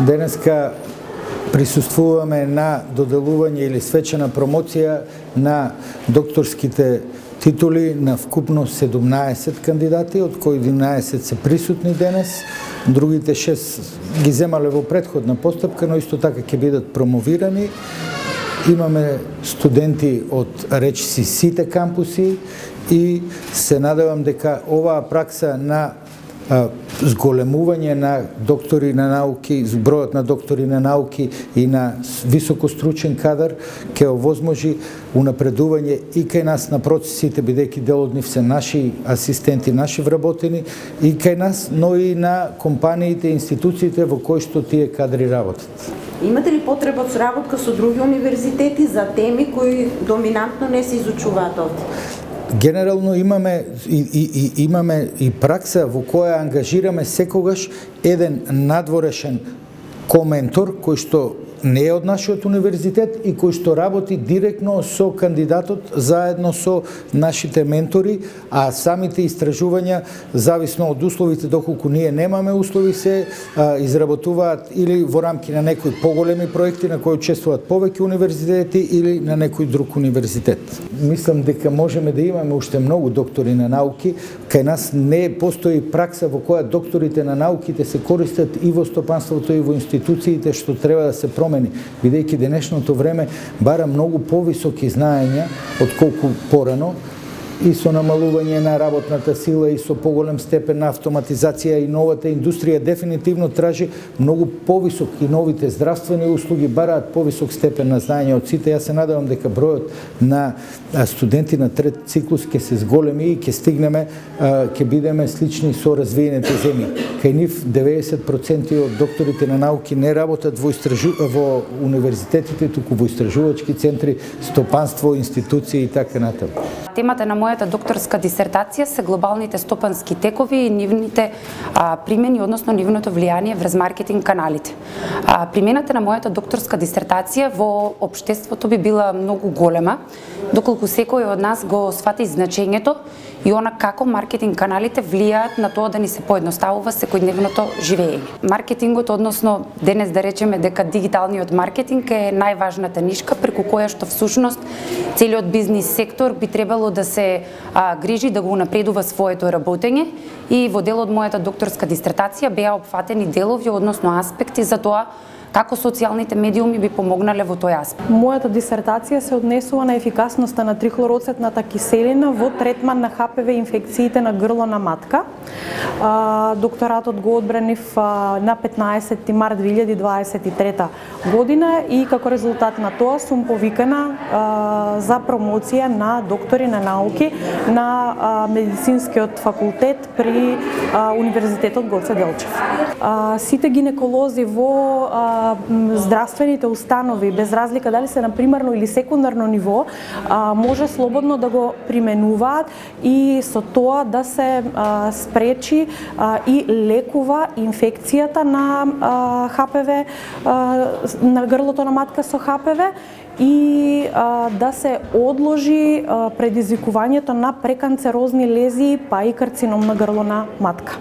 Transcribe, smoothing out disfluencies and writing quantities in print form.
Денеска присуствуваме на доделување или свечена промоција на докторските титули на вкупно 17 кандидати, од кои 11 се присутни денес. Другите 6 ги земале во претходна постапка, но исто така ќе бидат промовирани. Имаме студенти од речиси сите кампуси и се надевам дека оваа пракса на зголемување на доктори на науки, збројот на доктори на науки и на високостручен кадар ќе овозможи унапредување и кај нас на процесите, бидејќи дел од нив се наши асистенти, наши вработени, и кај нас, но и на компаниите и институциите во кои што тие кадри работат. Имате ли потреба од соработка со други универзитети за теми кои доминантно не се изучуваат овде? Генерално имаме и пракса во која ангажираме секогаш еден надворешен коментор кој што не е од нашиот универзитет и кој што работи директно со кандидатот заедно со нашите ментори, а самите истражувања, зависно од условите, доколку ние немаме услови, се изработуваат или во рамки на некои поголеми проекти на кои учествуваат повеќе универзитети или на некој друг универзитет. Мислам дека можеме да имаме уште многу доктори на науки. Кај нас не постои пракса во која докторите на науките се користат и во стопанството и во институциите, што треба да се промени, бидејќи денешното време бара многу повисоки знаења отколку порано, и со намалување на работната сила и со поголем степен на автоматизација, и новата индустрија дефинитивно тражи многу повисок, и новите здравствени услуги бараат повисок степен на знаење од сите. Јас се надевам дека бројот на студенти на трет циклус ќе се зголеми и ќе стигнеме, ќе бидеме слични со развиените земји. Кај нив 90% од докторите на науки не работат во универзитетите, туку во истражувачки центри, стопанство, институции и така натаму. Темата на мојата докторска дисертација се глобалните стопански текови и нивните примени, односно нивното влијание врз маркетинг каналите. Примената на мојата докторска дисертација во општеството би била многу голема, доколку секој од нас го свати значењето и она како маркетинг каналите влијаат на тоа да ни се поедноставува секојдневното живење. Маркетингот, односно денес да речеме дека дигиталниот маркетинг е најважната нишка преку која што всушност целиот бизнис сектор би требало да се грижи да го унапредува своето работење, и во дел од мојата докторска дисертација беа опфатени делови, односно аспекти за тоа како социјалните медиуми би помогнале во тој аспект. Мојата дисертација се однесува на ефикасноста на трихлороцетната киселина во третман на ХПВ инфекциите на грло на матка. Докторатот го одбранив на 15 март 2023 година и како резултат на тоа сум повикана за промоција на доктори на науки на медицинскиот факултет при Универзитетот Гоце Делчев. Сите гинеколози во здравствените установи, без разлика дали се на примарно или секундарно ниво, може слободно да го применуваат и со тоа да се спречи и лекува инфекцијата на ХПВ, на грлото на матка со ХПВ, и да се одложи предизвикувањето на преканцерозни лезии, па и карцином на грло на матка.